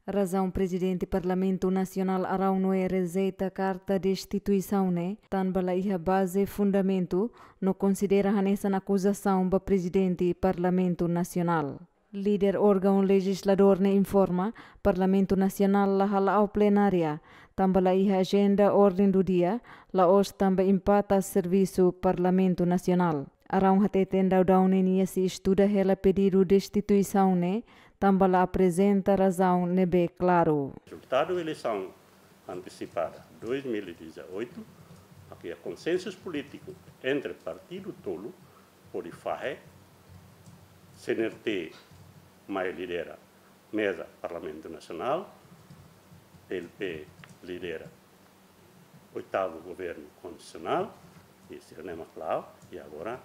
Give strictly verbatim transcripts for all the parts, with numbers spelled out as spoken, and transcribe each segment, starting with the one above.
Razaun Prezidente Parlamentu Nasionál Araun Noé rejeita karta destituisaun ne'e tanba la iha baze fundamentu no konsidera hanesan akuzasaun ba Prezidente Parlamentu Nasionál. Líder órgaun lejizladór ne'e informa, Parlamentu Nasionál la hala'o plenária, tanba la iha ajenda orden do dia, la'ós tanba impata servisu Parlamentu Nasionál. Araun hateten daudaun ne'e nia sei estuda hela pedidu destituisaun ne'e, tanba la aprezenta razaun ne'ebé klaru. Rezultadu eleisaun antesipada dois mil e dezoito, iha konsensu polítiku entre partidu tolu, hodi fahe, C N R T mai lidera meza Parlamentu Nasionál, P L P lidera oitavu governu konstitusionál, i sira-ne'e mak la'o, i agora,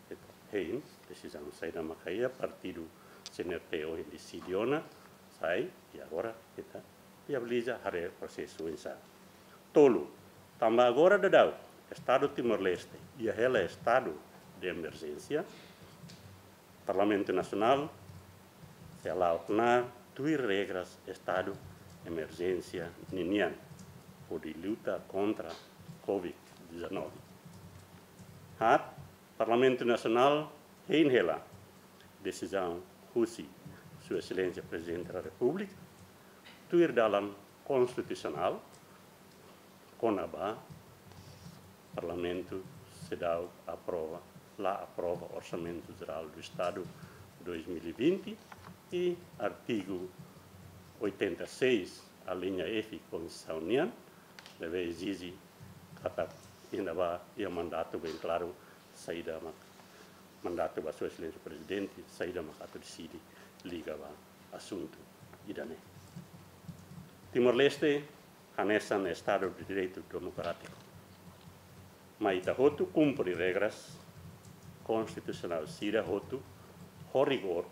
eh, hein, desizaun saida maka iha, partidu C N R T ohin deside ona, sai, i agora, ita, viabiliza, haree prosesu oinsá. Tolu, tanba agora daudaun, Estadu Timor-Leste, iha hela estadu de emerjénsia, Parlamentu Nasionál sei hala'o knaar tuir regras estadu emerjénsia ninian, hodi luta kontra covid dezanove. Haat, Parlamentu Nasionál hein hela desizaun husi Sua Exelénsia Prezidente da Repúblika, tuir dalan konstitusionál, kona-ba Parlamentu seidauk aprova, la aprova Orsamentu Jerál do Estadu dois mil e vinte i artigu oitenta e seis, alínea F Konstituisaun nian, ne'ebé ezije katak iha ne'ebá iha mandatu bem klaru, saida mak mandatu ba Sua Exelénsia Prezidente, saida mak atu deside liga ba asuntu ida-ne'e. Timor-Leste hanesan Estadu de Direitu Demokrátiku. Mai ita hotu kumpre regras konstitusionál sira hotu ho rigór,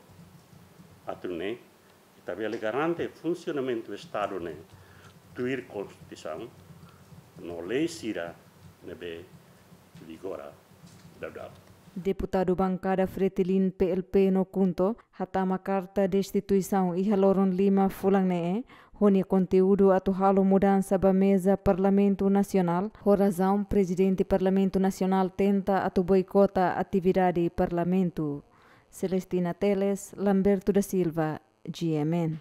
atu nune'e ita bele garante funsionamentu Estadu ne'e tuir Konstituisaun no lei sira ne'ebé vigora daudaun. Deputadu bankada Fretilin, P L P no KHUNTO hatama karta destituisaun iha loron lima fulan ne'e, ho nia konteúdu atu halo mudansa ba meza Parlamentu Nasionál, ho razaun Prezidente Parlamentu Nasionál tenta atu boikota atividade Parlamentu. Celestina Teles, Lamberto da Silva, G M N.